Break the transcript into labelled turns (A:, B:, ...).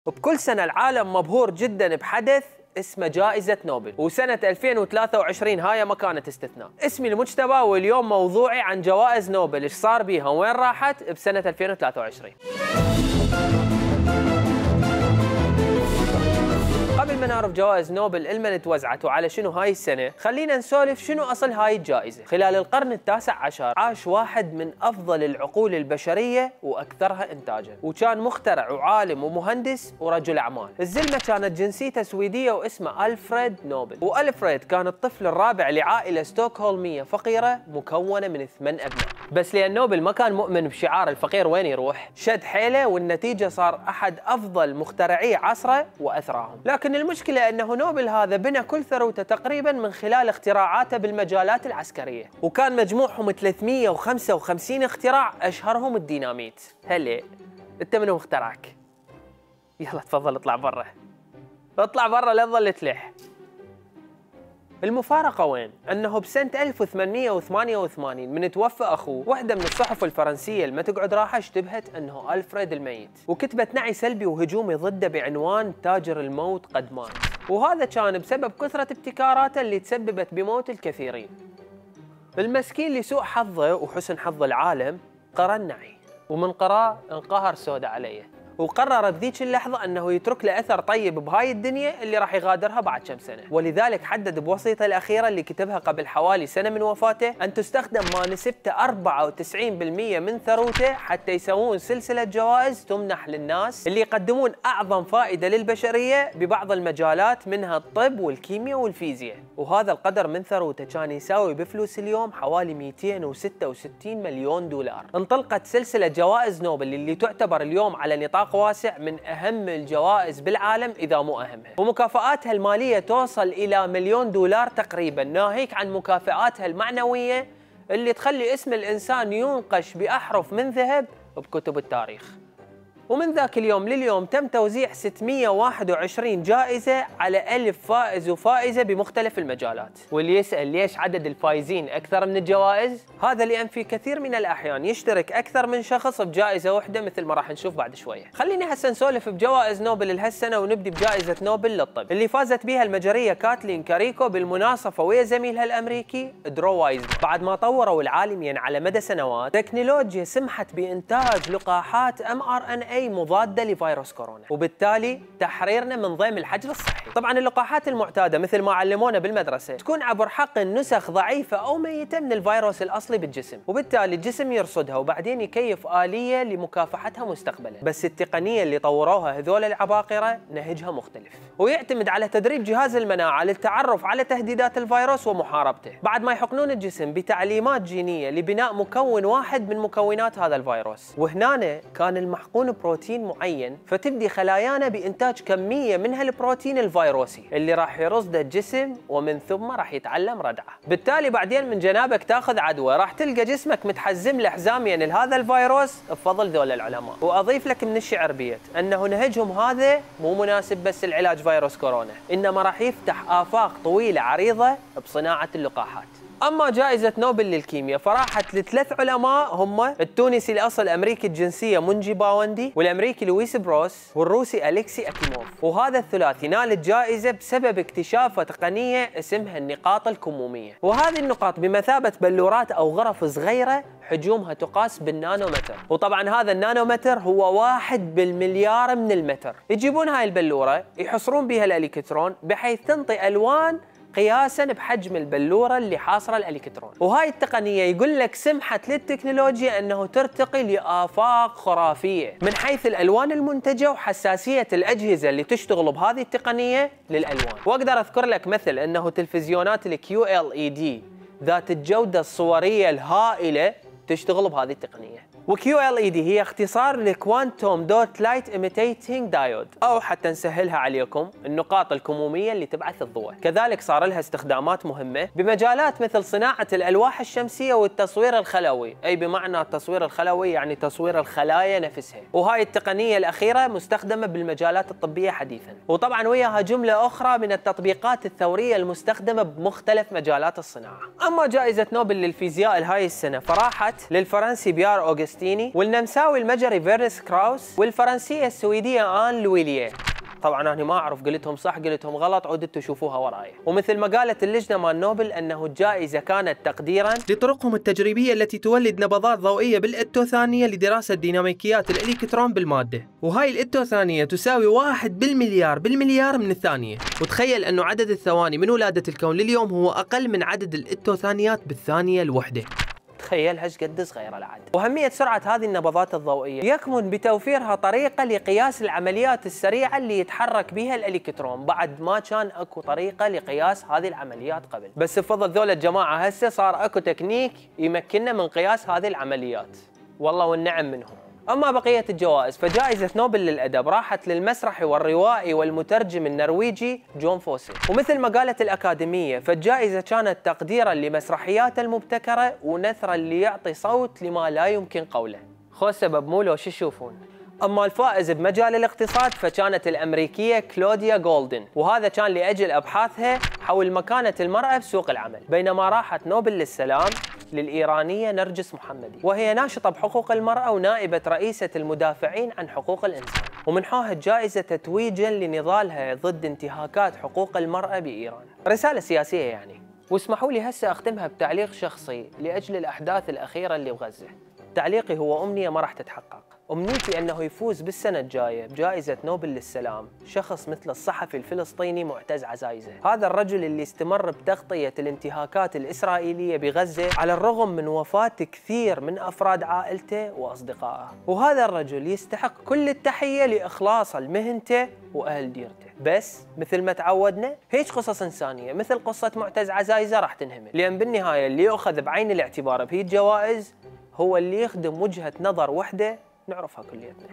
A: بكل سنة العالم مبهور جدا بحدث اسمه جائزة نوبل، وسنة 2023 هاي ما كانت استثناء. اسمي المجتبى واليوم موضوعي عن جوائز نوبل، ايش صار بيها وين راحت بسنة 2023. قبل ما نعرف جوائز نوبل لمن توزعت وعلى شنو هاي السنة، خلينا نسولف شنو أصل هاي الجائزة. خلال القرن التاسع عشر عاش واحد من أفضل العقول البشرية وأكثرها إنتاجا، وكان مخترع وعالم ومهندس ورجل أعمال. الزلمة كانت جنسيته سويدية واسمه ألفريد نوبل، وألفريد كان الطفل الرابع لعائلة ستوكهولمية فقيرة مكونة من 8 أبناء. بس لأن نوبل ما كان مؤمن بشعار الفقير وين يروح، شد حيله والنتيجة صار أحد أفضل مخترعي عصره وأثراهم. لكن المشكلة أنه نوبل هذا بنى كل ثروته تقريبا من خلال اختراعاته بالمجالات العسكرية، وكان مجموعهم 355 اختراع، أشهرهم الديناميت. هلا أنت منو مخترعك؟ يلا تفضل اطلع برا، اطلع برا لا تظل تلح. المفارقة وين؟ أنه بسنة 1888 من توفى أخوه، واحدة من الصحف الفرنسية اللي ما تقعد راحة اشتبهت أنه ألفريد الميت، وكتبت نعي سلبي وهجومي ضده بعنوان تاجر الموت قد مات، وهذا كان بسبب كثرة ابتكاراته اللي تسببت بموت الكثيرين. المسكين لسوء حظه وحسن حظ العالم قرأ النعي، ومن قرأ انقهر سودا عليه، وقرر بذيك اللحظة أنه يترك له أثر طيب بهاي الدنيا اللي راح يغادرها بعد كم سنة. ولذلك حدد بوصيته الأخيرة اللي كتبها قبل حوالي سنة من وفاته أن تستخدم ما نسبته 94% من ثروته حتى يسوون سلسلة جوائز تمنح للناس اللي يقدمون أعظم فائدة للبشرية ببعض المجالات منها الطب والكيمياء والفيزياء. وهذا القدر من ثروته كان يساوي بفلوس اليوم حوالي 266 مليون دولار. انطلقت سلسلة جوائز نوبل اللي تعتبر اليوم على نطاق واسع من أهم الجوائز بالعالم إذا مو أهمها، ومكافآتها المالية توصل إلى مليون دولار تقريبا، ناهيك عن مكافآتها المعنوية اللي تخلي اسم الإنسان ينقش بأحرف من ذهب بكتب التاريخ. ومن ذاك اليوم لليوم تم توزيع 621 جائزة على 1000 فائز وفائزة بمختلف المجالات. واللي يسأل ليش عدد الفائزين أكثر من الجوائز، هذا لأن في كثير من الأحيان يشترك أكثر من شخص بجائزة واحدة مثل ما راح نشوف بعد شوية. خليني هسه نسولف بجوائز نوبل لهالسنة، ونبدي بجائزة نوبل للطب اللي فازت بها المجرية كاتلين كاريكو بالمناصفة ويا زميلها الأمريكي درو وايزمان، بعد ما طوروا العالمين على مدى سنوات تكنولوجيا سمحت بإنتاج لقاحات mRNA مضادة لفيروس كورونا، وبالتالي تحريرنا من ضيم الحجر الصحي. طبعا اللقاحات المعتادة مثل ما علمونا بالمدرسة تكون عبر حقن نسخ ضعيفة أو ميتة من الفيروس الأصلي بالجسم، وبالتالي الجسم يرصدها وبعدين يكيف آلية لمكافحتها مستقبلا. بس التقنية اللي طوروها هذول العباقرة نهجها مختلف، ويعتمد على تدريب جهاز المناعة للتعرف على تهديدات الفيروس ومحاربته، بعد ما يحقنون الجسم بتعليمات جينية لبناء مكون واحد من مكونات هذا الفيروس. وهنا كان المحقون بروتين معين، فتبدي خلايانا بإنتاج كمية من هالبروتين الفيروسي اللي راح يرصده الجسم، ومن ثم راح يتعلم ردعه. بالتالي بعدين من جنابك تاخذ عدوى راح تلقى جسمك متحزم له حزاميا لهذا الفيروس بفضل ذول العلماء. واضيف لك من الشعر بيت انه نهجهم هذا مو مناسب بس العلاج فيروس كورونا، انما راح يفتح آفاق طويلة عريضة بصناعة اللقاحات. أما جائزة نوبل للكيمياء فراحت لثلاث علماء، هم التونسي الأصل أمريكي الجنسية منجي باوندي، والأمريكي لويس بروس، والروسي أليكسي أكيموف. وهذا الثلاثي نال الجائزة بسبب اكتشافه تقنية اسمها النقاط الكمومية، وهذه النقاط بمثابة بلورات أو غرف صغيرة حجومها تقاس بالنانومتر. وطبعا هذا النانومتر هو 1 بالمليار من المتر. يجيبون هاي البلورة يحصرون بها الإلكترون بحيث تنطي ألوان قياسا بحجم البلورة اللي حاصرة الإلكترون. وهاي التقنية يقول لك سمحت للتكنولوجيا أنه ترتقي لآفاق خرافية من حيث الألوان المنتجة وحساسية الأجهزة اللي تشتغل بهذه التقنية للألوان. وأقدر أذكر لك مثل أنه تلفزيونات ال QLED ذات الجودة الصورية الهائلة تشتغل بهذه التقنية. وQLED هي اختصار لكوانتوم دوت لايت ايميتيتنج دايود، او حتى نسهلها عليكم النقاط الكموميه اللي تبعث الضوء. كذلك صار لها استخدامات مهمه بمجالات مثل صناعه الالواح الشمسيه والتصوير الخلوي، اي بمعنى التصوير الخلوي يعني تصوير الخلايا نفسها. وهاي التقنيه الاخيره مستخدمه بالمجالات الطبيه حديثا، وطبعا وياها جمله اخرى من التطبيقات الثوريه المستخدمه بمختلف مجالات الصناعه. اما جائزه نوبل للفيزياء لهاي السنه فراحت للفرنسي بيار أوغسtin أوغستيني، والنمساوي المجري فيرنس كراوس، والفرنسية السويدية آن لويليه. طبعا انا ما اعرف قلتهم صح قلتهم غلط، عودوا تشوفوها وراي. ومثل ما قالت اللجنه مال نوبل انه الجائزه كانت تقديرا لطرقهم التجريبيه التي تولد نبضات ضوئيه بالاتوثانيه لدراسه ديناميكيات الالكترون بالماده، وهاي الاتوثانيه تساوي 1 بالمليار من الثانيه. وتخيل انه عدد الثواني من ولاده الكون لليوم هو اقل من عدد الاتوثانيات بالثانيه الوحده. تخيل هاش قد صغيره العدد. واهميه سرعه هذه النبضات الضوئيه يكمن بتوفيرها طريقه لقياس العمليات السريعه اللي يتحرك بها الالكترون، بعد ما كان اكو طريقه لقياس هذه العمليات قبل، بس بفضل ذول الجماعه هسه صار اكو تكنيك يمكننا من قياس هذه العمليات، والله والنعم منهم. أما بقية الجوائز فجائزة نوبل للأدب راحت للمسرحي والروائي والمترجم النرويجي جون فوسي. ومثل ما قالت الأكاديمية فالجائزة كانت تقديرا لمسرحياته المبتكرة ونثرا ليعطي صوت لما لا يمكن قوله. خو سبب مو لو شو تشوفون. أما الفائز بمجال الاقتصاد فكانت الأمريكية كلوديا جولدن، وهذا كان لأجل أبحاثها حول مكانة المرأة بسوق العمل. بينما راحت نوبل للسلام للإيرانية نرجس محمدي، وهي ناشطة بحقوق المرأة ونائبة رئيسة المدافعين عن حقوق الإنسان، ومنحوها الجائزة تتويجا لنضالها ضد انتهاكات حقوق المرأة بإيران. رسالة سياسية يعني. واسمحوا لي هسه أختمها بتعليق شخصي لأجل الأحداث الأخيرة اللي بغزة. تعليقي هو أمنية ما راح تتحقق. أمنيتي أنه يفوز بالسنة الجاية بجائزة نوبل للسلام شخص مثل الصحفي الفلسطيني معتز عزايزة. هذا الرجل اللي استمر بتغطية الانتهاكات الإسرائيلية بغزة على الرغم من وفاة كثير من أفراد عائلته وأصدقائه. وهذا الرجل يستحق كل التحية لإخلاصه لمهنته وأهل ديرته. بس مثل ما تعودنا هيك قصص إنسانية مثل قصة معتز عزايزة راح تنهمل، لأن بالنهاية اللي يؤخذ بعين الاعتبار بهي الجوائز هو اللي يخدم وجهة نظر وحدة نعرفها كليتنا.